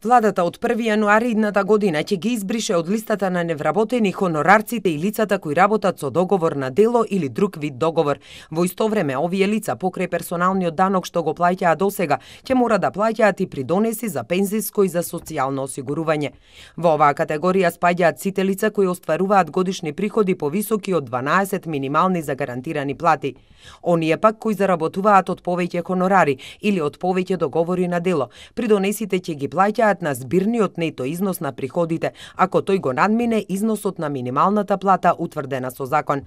Владата од 1 јануари идната година ќе ги избрише од листата на невработени хонорарците и лицата кои работат со договор на дело или друг вид договор. Во исто време, овие лица покрај персоналниот данок што го плаќаа досега, ќе мора да плаќаат и придонеси за пензиско и за социјално осигурување. Во оваа категорија спаѓаат сите лица кои остваруваат годишни приходи повисоки од 12 минимални загарантирани плати. Оние пак кои заработуваат од повеќе хонорари или од повеќе договори на дело, придонесите ќе ги плаќаат на збирниот нето износ на приходите, ако тој го надмине износот на минималната плата утврдена со закон.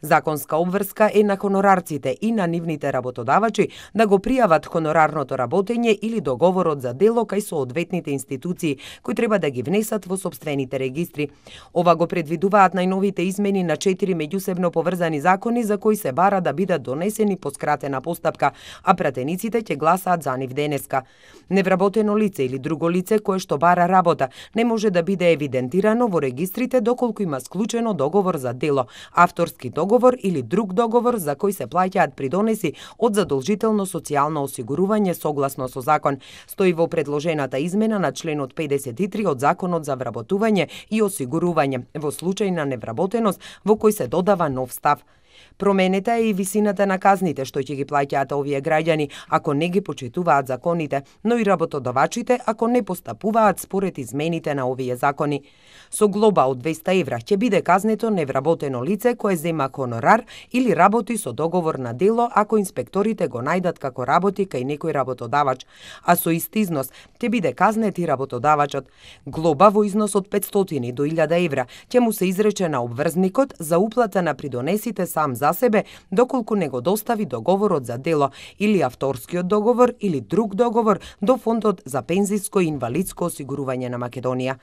Законска обврска е на хонорарците и на нивните работодавачи да го пријават хонорарното работење или договорот за дело кај соодветните институции кои треба да ги внесат во сопствените регистри. Ова го предвидуваат најновите измени на 4 меѓусебно поврзани закони за кои се бара да бидат донесени по скратена постапка, а пратениците ќе гласаат за нив денеска. Невработено лице или друго лице кое што бара работа не може да биде евидентирано во регистрите доколку има склучено договор за дело, авторски договор или друг договор за кој се плаќаат придонеси од задолжително социјално осигурување согласно со закон, стои во предложената измена на членот 53 од Законот за вработување и осигурување во случај на невработеност во кој се додава нов став. Променета е и висината на казните што ќе ги плаќаат овие граѓани ако не ги почитуваат законите, но и работодавачите ако не постапуваат според измените на овие закони. Со глоба од 200 евра ќе биде казнето невработено лице кое зема хонорар или работи со договор на дело ако инспекторите го најдат како работи кај некој работодавач, а со ист износ ќе биде казнет и работодавачот. Глоба во износ од 500 до 1000 евра ќе му се изрече на обврзникот за уплата на придонесите сам за себе, доколку не го достави договорот за дело или авторскиот договор или друг договор до Фондот за пензиско и инвалидско осигурување на Македонија.